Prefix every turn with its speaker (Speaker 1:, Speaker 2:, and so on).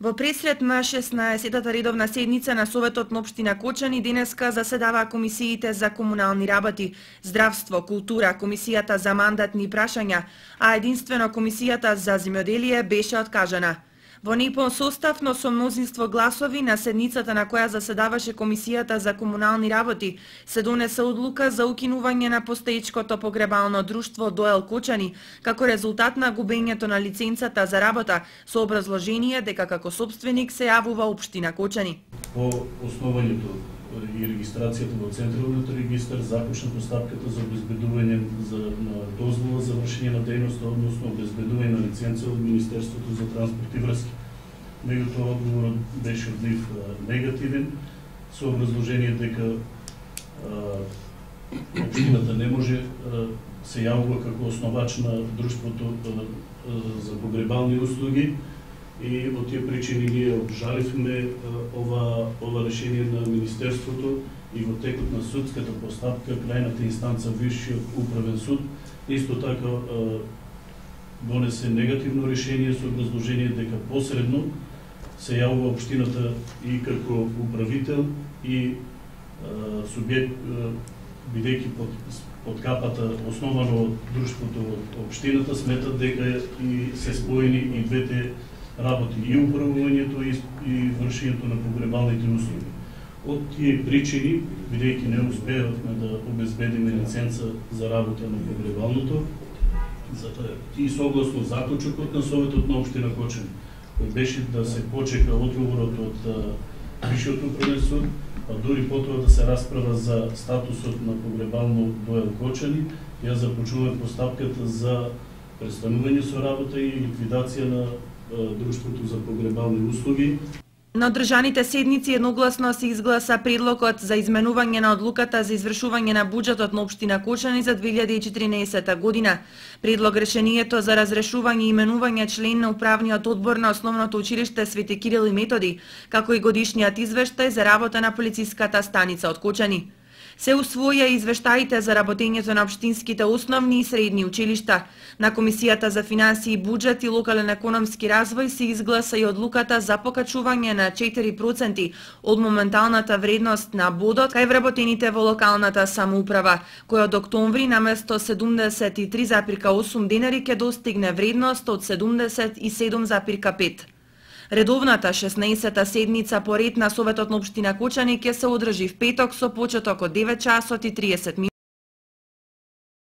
Speaker 1: Во пресред на 16-та редовна седница на Советот на општина Кочани денеска заседаваа комисиите за комунални работи, здравство, култура, комисијата за мандатни прашања, а единствено комисијата за земјоделие беше откажана. Во непон состав, но со мнозинство гласови на седницата на која заседаваше комисијата за комунални работи, се донесе одлука за укинување на постоечкото погребално друштво Доел Кочани, како резултат на губењето на лиценцата за работа, со образложение дека како собственик се јавува општина Кочани.
Speaker 2: По основањето и регистрацијата во Централниот регистар започна постапката за обезбедување на дозвола за вршење на дејност, односно обезбедување на лиценца од Министерството за транспорт и врски. Меѓутоа одговорот беше од нив негативен, со образложение дека општината не може се јавува како основач на друштвото за погребални услуги. И во тие причини ние обжаливме ова решение на Министерството и во текот на судската постапка, крајната инстанца Висшиот управен суд, исто така донесе негативно решение со образложение дека посредно се јавува општината и како управител и субјект, бидејќи под капата основано од друштвото од општината, сметат дека и се споени и двете работи, и управувањето и вршењето на погребалните услуги. Од тие причини, бидејќи не успеавме да обезбедиме лиценца за работа на погребалното, и согласно заклучокот на Советот на општина Кочани, кој беше да се почека одговорот од Висшиот управен суд, а дури потоа да се расправа за статусот на погребално Доел Кочани, ја започнуваме постапката за престанување со работа и ликвидација на друштвото за погребални услуги.
Speaker 1: На одржаните седници едногласно се изгласа предлогот за изменување на одлуката за извршување на буџетот на општина Кочани за 2014 година. Предлог решението за разрешување и именување член на управниот одбор на Основното училиште Свети Кирил и Методи, како и годишниот извештај за работа на полициската станица од Кочани. Се усвоја и извештаите за работењето на општинските основни и средни училишта. На Комисијата за финансии, буџет и локален економски развој се изгласа и одлуката за покачување на 4% од моменталната вредност на бодот кај вработените во локалната самоуправа, која од октомври наместо 73,8 денари ќе достигне вредност од 77,5. Редовната 16-та седница по ред на Советот на општина Кочани ќе се одржи в петок со почеток од 9 часот и 30 минути.